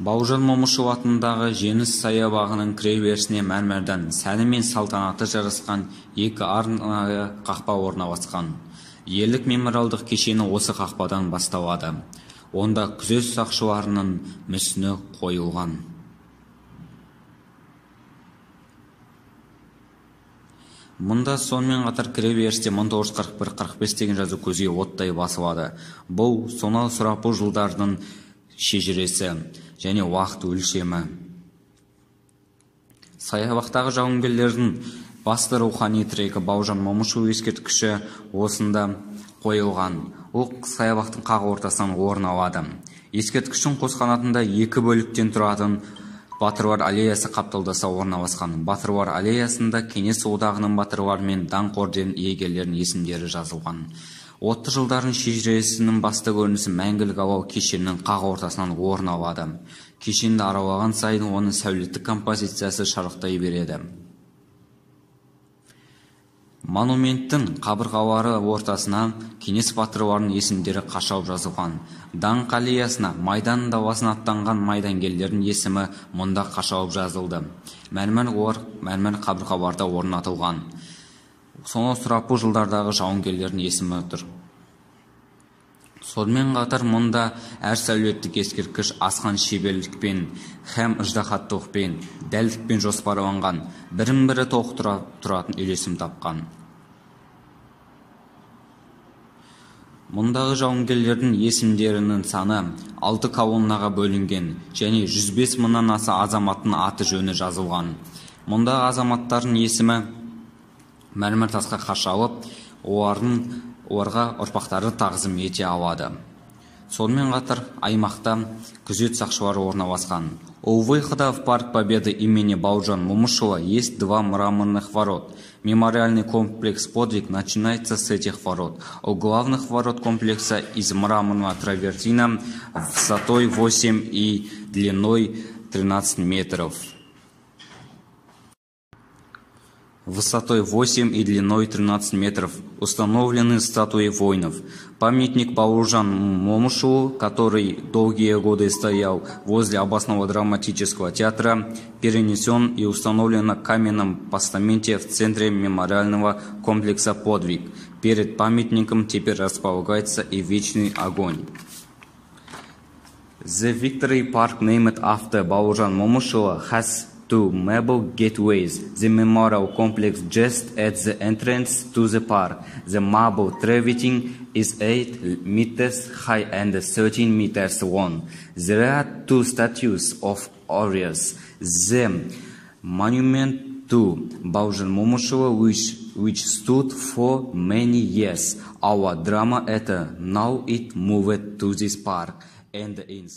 Бауыржан Момышұлы атындағы Жеңіс саябағының кіреберісіне мәрмәрдан сәні мен салтанаты жарасқан екі арнайы қақпа орналасқан. Ерлік мемориалдық кешені осы қақпадан басталады. Онда күзет сақшыларының мүсіні қойылған. Мұнда сонымен қатар кіреберісте 1941-45 деген жазу көзге оттай басылады. Бұл сонау сұрапыл жылдардың шежіресі және уақыт өлшемі. Саябақтағы жауынгерлердің басты рухани тірегі Бауыржан Момышұлы ескерткіші осында қойылған. Ол саябақтың қақ ортасынан орын алады. Ескерткіштің қос қанатында екі бөліктен тұратын Батырлар аллеясы қапталдаса орналасқан. Батырлар аллеясында Кеңес одағының батырлары мен даңқ орден иегерлерінің есімдері жазылған. 30 жылдардың шежіресінің басты көрінісі мәңгілік алау кешенінің қақ ортасынан орын алады. Кешенді аралаған сайын оның сәулеттік композициясы шарықтай береді. Монументтің қабырғалары ортасына Кеңес батырларының есімдері қашалып жазылған. Даңқ аллеясына Майдан даласына аттанған майдангерлердің есімі мұнда қашалып жазылды. Мәрмәр қабырғаларда орнатылған. Сонау сұрапыл жылдардағы жауынгерлердің есімі тұр. Сонымен қатар мұнда әр сәулеттік ескерткіш асқан шеберлікпен һәм ыждаһаттылықпен, дәлдікпен жоспарланған, бірін-бірі толықтыра тұратын үйлесім тапқан. Мұндағы жауынгерлердің есімдерінің саны 6 колоннаға бөлінген және 105 мыңнан аса азаматтың аты жөні жазылған. Мұндағы азаматтардың есімі мәрмәр тасқа қашалып, оларға ұрпақтары тағзым ете алады. Сонымен қатар аймақта күзет сақшылары орналасқан. У выхода в парк Победы имени Бауыржан Момышұлы есть 2 мраморных ворот. Мемориальный комплекс «Подвиг» начинается с этих ворот. У главных ворот комплекса из мраморного травертина высотой 8 и длиной 13 метров. Высотой 8 и длиной 13 метров установлены статуи воинов. Памятник Бауыржану Момышұлы, который долгие годы стоял возле областного драматического театра, перенесен и установлен на каменном постаменте в центре мемориального комплекса «Подвиг». Перед памятником теперь располагается и вечный огонь. The Victory Park, named after Бауыржан Момышұлы, has 2 marble gateways. The memorial complex just at the entrance to the park. The marble travertine is 8 meters high and 13 meters long. There are 2 statues of warriors. The monument to Бауыржан Момышұлы, which stood for many years. Our drama theater now it moved to this park and in